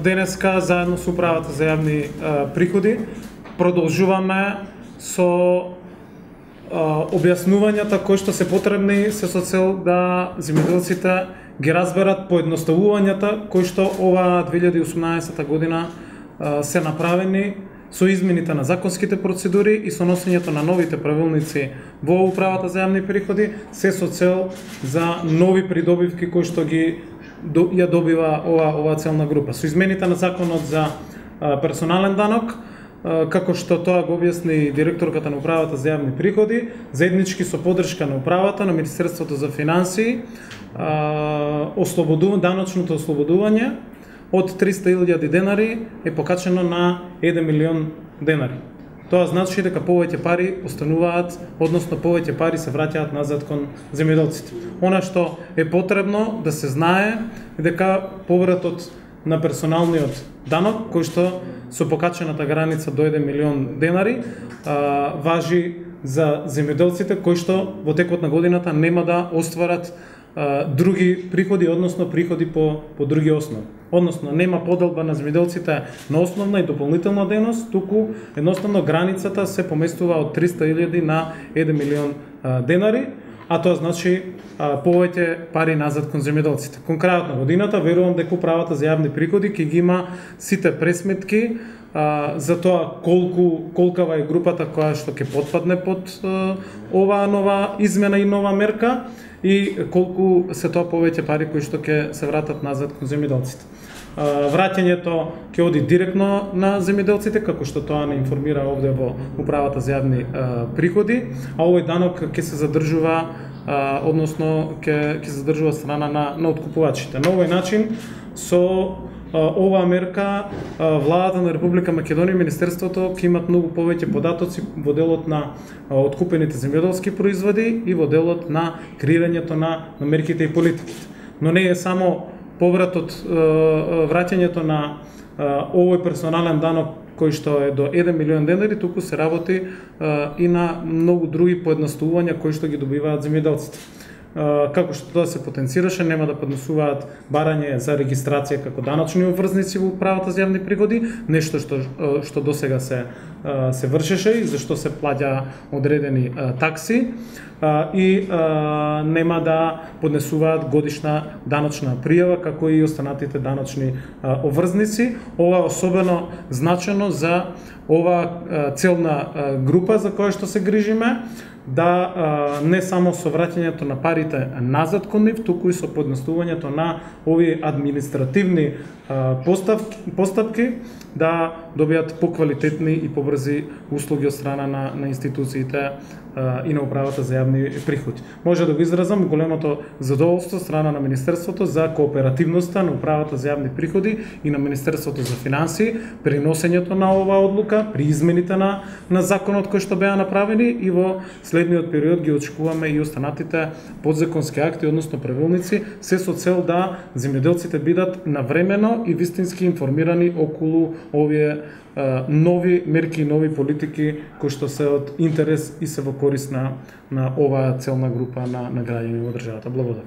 денеска заедно со управата за јавни приходи продолжуваме со објаснувањата кои што се потребни се со цел да земјоделците ги разберат поедноставувањата кои што ова 2018 година се направени со измените на законските процедури и со носењето на новите правилници во управата за јавни приходи, се со цел за нови придобивки кои што ги ја добива ова целна група. Со измените на законот за персонален данок, како што тоа го објасни директорката на управата за јавни приходи, заеднички со поддршка на управата, на Министерството за финансии, даночното ослободување од 300.000 денари е покачено на 1 милион денари. Тоа значи дека повеќе пари остануваат, односно повеќе пари се враќаат назад кон земјоделците. Она што е потребно да се знае е дека повратот на персоналниот данок, кој што со покачената граница до 1 милион денари, важи за земјоделците кои што во текот на годината нема да остварат други приходи, односно приходи по други основи. Односно, нема поделба на земјоделците на основна и дополнителна дејност, туку едноставно границата се поместува од 300.000 на 1 милион денари, а тоа значи повеќе пари назад кон земјоделците. Кон крајот на годината верувам дека управата за јавни приходи ќе ги има сите пресметки за тоа колкава е групата која што ќе потпадне под оваа нова измена и нова мерка и колку се тоа повеќе пари кои што ќе се вратат назад кон земјоделците. Враќањето ќе оди директно на земјоделците, како што тоа не информира овде во управата за јавни приходи, а овој данок ќе се задржува, односно ќе се задржува страна на откупувачите. На овој начин со оваа мерка владата на Република Македонија и Министерството ќе имат многу повеќе податоци во делот на откупените земјоделски производи и во делот на креирањето на мерките и политиките. Но не е само повратот, враќањето на овој персонален данок кој што е до 1 милион денари, туку се работи и на многу други поедноставувања кои што ги добиваат земјоделците. Како што тоа се потенцираше, нема да поднесуваат барање за регистрација како даночни обврзници во управата за јавни приходи, нешто што досега се вршеше и зашто се плаќа одредени такси, и нема да поднесуваат годишна даночна пријава како и останатите даночни обврзници. Ова е особено значено за ова целна група за која што се грижиме, да не само со враќањето на парите назад кон нив, туку и со поедноставувањето на овие административни постапки да добијат поквалитетни и побрзи услуги од страна на институциите и на управата за јавни приходи. Може да го изразам големото задоволство страна на Министерството за кооперативноста на управата за јавни приходи и на Министерството за финансии при носењето на оваа одлука, при измените на законот кои што беа направени, и во следниот период ги очекуваме и останатите подзаконски акти, односно правилници, се со цел да земјоделците бидат навремено и вистински информирани околу овие нови мерки и нови политики кои што се од интерес и се во корист на оваа целна група на граѓани во државата. Благодарам.